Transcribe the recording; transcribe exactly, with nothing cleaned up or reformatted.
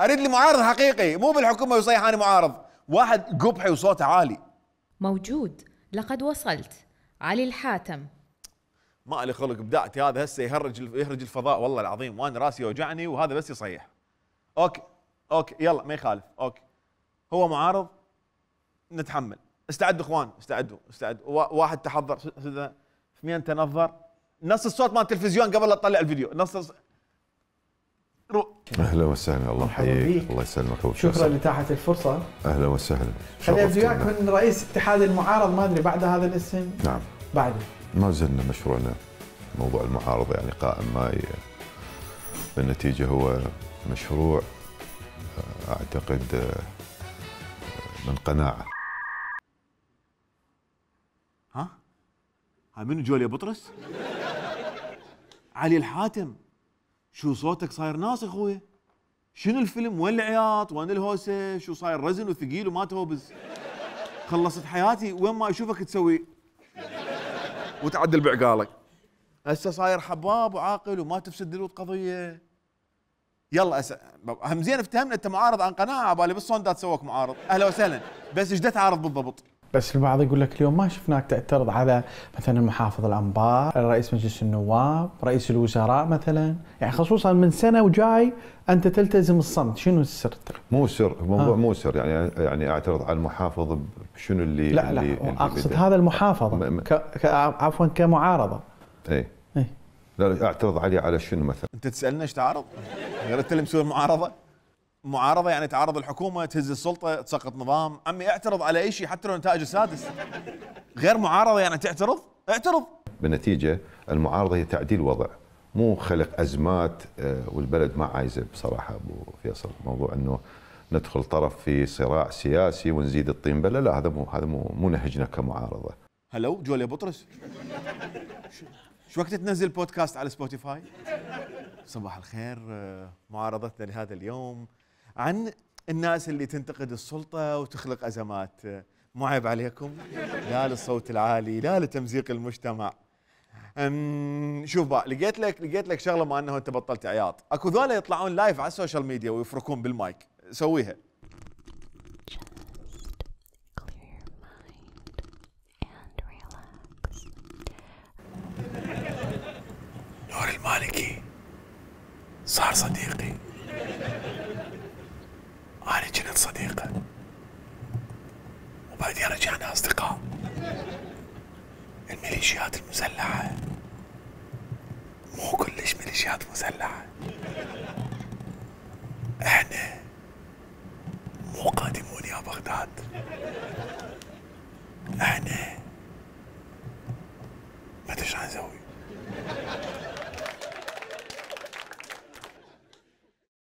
اريد لي معارض حقيقي، مو بالحكومه ويصيح انا معارض، واحد قبحي وصوته عالي. موجود، لقد وصلت. علي الحاتم. ما لي خلق بدعتي، هذا هسه يهرج يهرج الفضاء والله العظيم، وانا راسي يوجعني وهذا بس يصيح. اوكي اوكي يلا ما يخالف، اوكي هو معارض نتحمل. استعدوا اخوان، استعدوا استعدوا. واحد تحضر اثنين تنظر، نص الصوت مال التلفزيون قبل لا تطلع الفيديو، نص الص... رو. اهلا وسهلا، الله يحييك، الله يسلمك. شكرا لاتاحة الفرصة. اهلا وسهلا. خليني ابدي وياك من رئيس اتحاد المعارض، ما ادري بعد هذا الاسم. نعم بعده ما زلنا مشروعنا موضوع المعارضة يعني قائم معي. بالنتيجة هو مشروع اعتقد من قناعة. ها؟ هاي منو جوليا بطرس؟ علي الحاتم، شو صوتك صاير ناس اخويا؟ شنو الفيلم؟ وين العياط؟ وين الهوسه؟ شو صاير رزن وثقيل وما توبز؟ خلصت حياتي وين ما اشوفك تسوي وتعدل بعقالك. هسه صاير حباب وعاقل وما تفسد دلوت قضيه. يلا أس... هم زين افتهمنا انت معارض عن قناعه، بالي بالصوندات سووك معارض. اهلا وسهلا، بس ايش تعارض بالضبط؟ بس البعض يقول لك اليوم ما شفناك تعترض على مثلا المحافظ الانبار، رئيس مجلس النواب، رئيس الوزراء مثلا، يعني خصوصا من سنه وجاي انت تلتزم الصمت، شنو السر؟ مو سر، الموضوع مو سر، يعني يعني اعترض على المحافظ بشنو اللي لا لا اللي اقصد اللي هذا المحافظه م... م... ك... ك... عفوا كمعارضه. اي اي لا اعترض عليه على شنو مثلا؟ انت تسالنا ايش تعارض؟ غير انت اللي مسوي المعارضه؟ معارضه يعني تعارض الحكومه، تهز السلطه، تسقط نظام. عمي اعترض على اي شيء حتى لو نتائج السادس. غير معارضه يعني تعترض؟ اعترض. بالنتيجه المعارضه هي تعديل وضع، مو خلق ازمات، والبلد ما عايزه بصراحه ابو فيصل موضوع انه ندخل طرف في صراع سياسي ونزيد الطين بله، لا هذا مو هذا مو مو نهجنا كمعارضه. هلو جوليا بطرس، شو وقت تنزل بودكاست على سبوتيفاي؟ صباح الخير، معارضتنا لهذا اليوم عن الناس اللي تنتقد السلطة وتخلق أزمات. مو عيب عليكم؟ لا للصوت العالي، لا لتمزيق المجتمع. شوف بقى، لقيت لك لقيت لك شغلة، ما أنه أنت بطلت عياط. أكو ذولا يطلعون لايف على السوشيال ميديا ويفركون بالمايك، سويها. نور المالكي صار صديقي، أنا كنت صديقه وبعدين رجعنا أصدقاء. الميليشيات المسلحة مو كلش ميليشيات مسلحة، احنا مو قادمون يا بغداد، احنا